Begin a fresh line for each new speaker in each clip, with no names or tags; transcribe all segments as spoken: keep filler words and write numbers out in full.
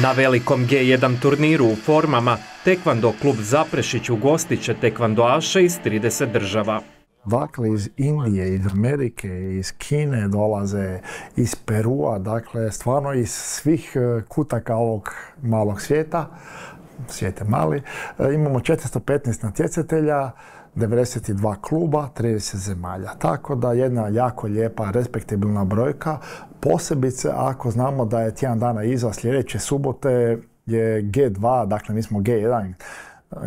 Na velikom G jedan turniru u formama Tekvando klub Zaprešić ugostit će tekvandoaše iz trideset država.
Dakle, iz Indije, iz Amerike, iz Kine dolaze, iz Perua, dakle, stvarno iz svih kutaka ovog malog svijeta, svijet je mali. Imamo četiristo petnaest natjecatelja, devedeset dva kluba, trideset zemalja. Tako da jedna jako lijepa, respektabilna brojka, posebice ako znamo da je tjedan dana iza, sljedeće subote je G dva, dakle mi smo G jedan,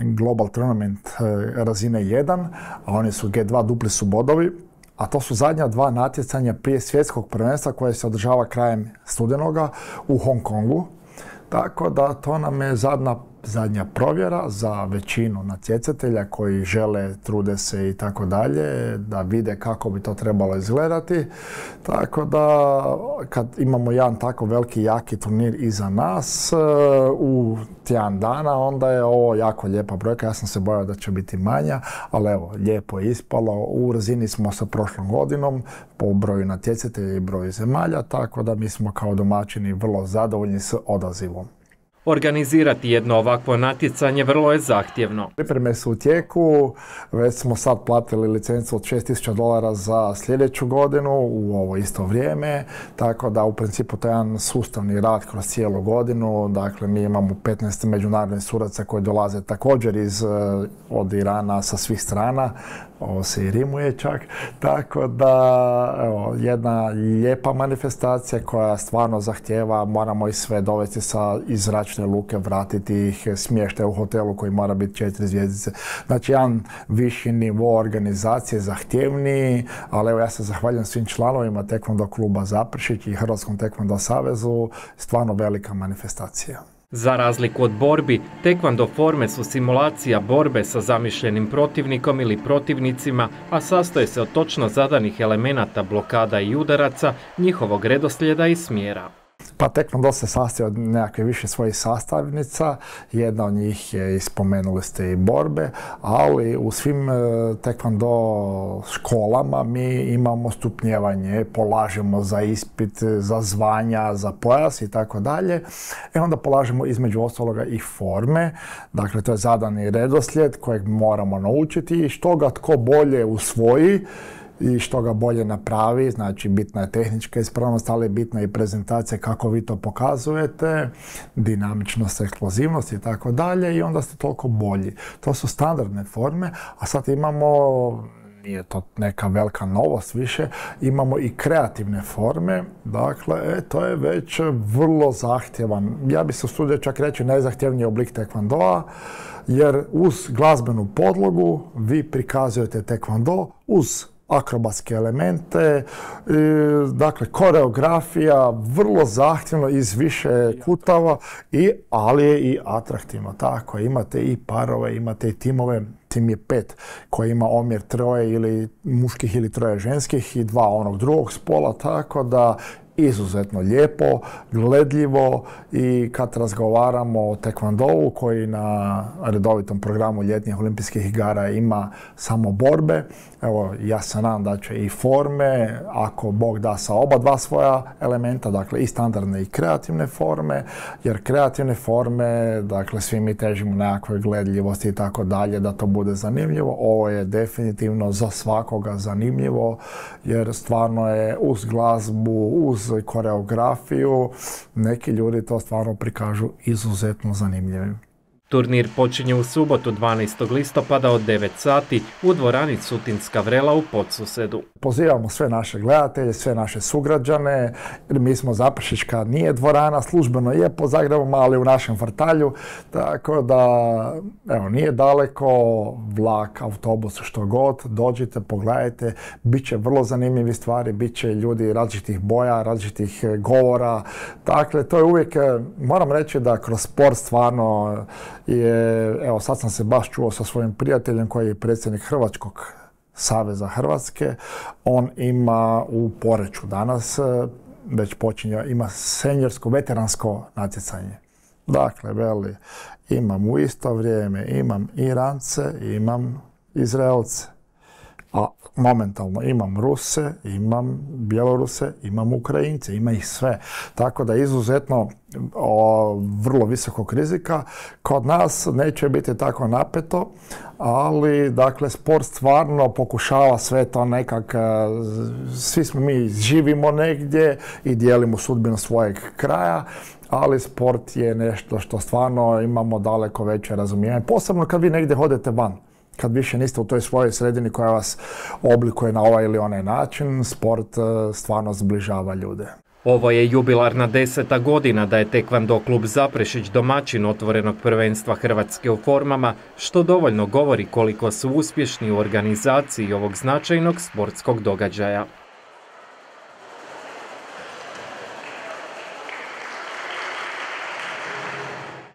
Global Tournament razine jedan, a oni su G dva, dupli su bodovi, a to su zadnja dva natjecanja prije svjetskog prvenstva koje se održava krajem studenoga u Hong Kongu. Tako da to nam je zadnja, zadnja provjera za većinu natjecatelja koji žele, trude se i tako dalje, da vide kako bi to trebalo izgledati. Tako da kad imamo jedan tako veliki, jaki turnir iza nas u tjedan dana, onda je ovo jako lijepa brojka. Ja sam se bojao da će biti manja, ali evo, lijepo je ispalo. U razini smo sa prošlom godinom po broju natjecatelja i broju zemalja, tako da mi smo kao domaćini vrlo zadovoljni s odazivom.
Organizirati jedno ovakvo natjecanje vrlo je zahtjevno.
Pripreme su u tijeku, već smo sad platili licencu od šest tisuća dolara za sljedeću godinu u ovo isto vrijeme, tako da u principu to je jedan sustavni rad kroz cijelu godinu. Dakle, mi imamo petnaest međunarodnih sudaca koji dolaze također iz, od Irana sa svih strana, ovo se i rimuje čak, tako da evo, jedna lijepa manifestacija koja stvarno zahtjeva, moramo ih sve dovesti sa iz zračne luke, vratiti ih, smještaj u hotelu koji mora biti četiri zvjezdice. Znači, jedan viši nivo organizacije, zahtjevniji, ali evo ja se zahvaljujem svim članovima Tekvando kluba Zaprešić i Hrvatskom tekvando savezu, stvarno velika manifestacija.
Za razliku od borbi, tekvando forme su simulacija borbe sa zamišljenim protivnikom ili protivnicima, a sastoje se od točno zadanih elemenata blokada i udaraca, njihovog redoslijeda i smjera.
Pa tekvando se sastoji od nekakve više svojih sastavnica, jedna od njih je, spomenuli ste, i borbe, ali u svim tekvando školama mi imamo stupnjevanje, polažemo za ispit, za zvanja, za pojas i tako dalje. I onda polažemo između ostaloga i forme, dakle to je zadani redoslijed kojeg moramo naučiti i što ga tko bolje usvoji i što ga bolje napravi, znači bitna je tehnička ispravnost, ali bitna je i prezentacija kako vi to pokazujete, dinamičnost, eksplozivnost i tako dalje i onda ste toliko bolji. To su standardne forme, a sad imamo, nije to neka velika novost više, imamo i kreativne forme, dakle e, to je već vrlo zahtjevan, ja bih se usudio čak reći najzahtjevniji oblik tekvandoa, jer uz glazbenu podlogu vi prikazujete tekvando uz akrobatske elemente, dakle koreografija, vrlo zahtjevno iz više kutava, i, ali je i atraktivno. Tako, imate i parove, imate i timove, tim je pet koji ima omjer troje ili muških ili troje ženskih i dva onog drugog spola, tako da izuzetno lijepo, gledljivo i kad razgovaramo o tekvandovu koji na redovitom programu ljetnih olimpijskih igara ima samo borbe, evo ja se nadam da će i forme, ako Bog da, sa oba dva svoja elementa, dakle i standardne i kreativne forme, jer kreativne forme, dakle svi mi težimo nekakvoj gledljivosti i tako dalje, da to bude zanimljivo. Ovo je definitivno za svakoga zanimljivo, jer stvarno je uz glazbu, uz koreografiju, neki ljudi to stvarno prikažu izuzetno zanimljivim.
Turnir počinje u subotu dvanaestog listopada od devet sati u dvorani Sutinska vrela u Podsusedu.
Pozivamo sve naše gledatelje, sve naše sugrađane, jer mi smo Zaprešićka, nije dvorana, službeno je po Zagrebu, ali u našem vrtalju, tako da evo, nije daleko, vlak, autobus, što god, dođite, pogledajte, bit će vrlo zanimljivi stvari, bit će ljudi različitih boja, različitih govora, dakle to je uvijek, moram reći da kroz sport stvarno je, evo sad sam se baš čuo sa svojim prijateljem koji je predsjednik Hrvatskog saveza Hrvatske, on ima u Poreču danas, već počinje, ima senjorsko, veteransko natjecanje. Dakle, veli, imam u isto vrijeme, imam Irance, imam Izraelce, a momentalno imam Ruse, imam Bjeloruse, imam Ukrajince, ima ih sve. Tako da izuzetno o, vrlo visokog rizika. Kod nas neće biti tako napeto, ali dakle sport stvarno pokušava sve to nekak, svi smo mi živimo negdje i dijelimo sudbinu svojeg kraja, ali sport je nešto što stvarno imamo daleko veće razumijevanje. Posebno kad vi negdje hodete van. Kad više niste u toj svojoj sredini koja vas oblikuje na ovaj ili onaj način, sport stvarno zbližava ljude.
Ovo je jubilarna deseta godina da je Tekvando klub Zaprešić domaćin otvorenog prvenstva Hrvatske u formama, što dovoljno govori koliko su uspješni u organizaciji ovog značajnog sportskog događaja.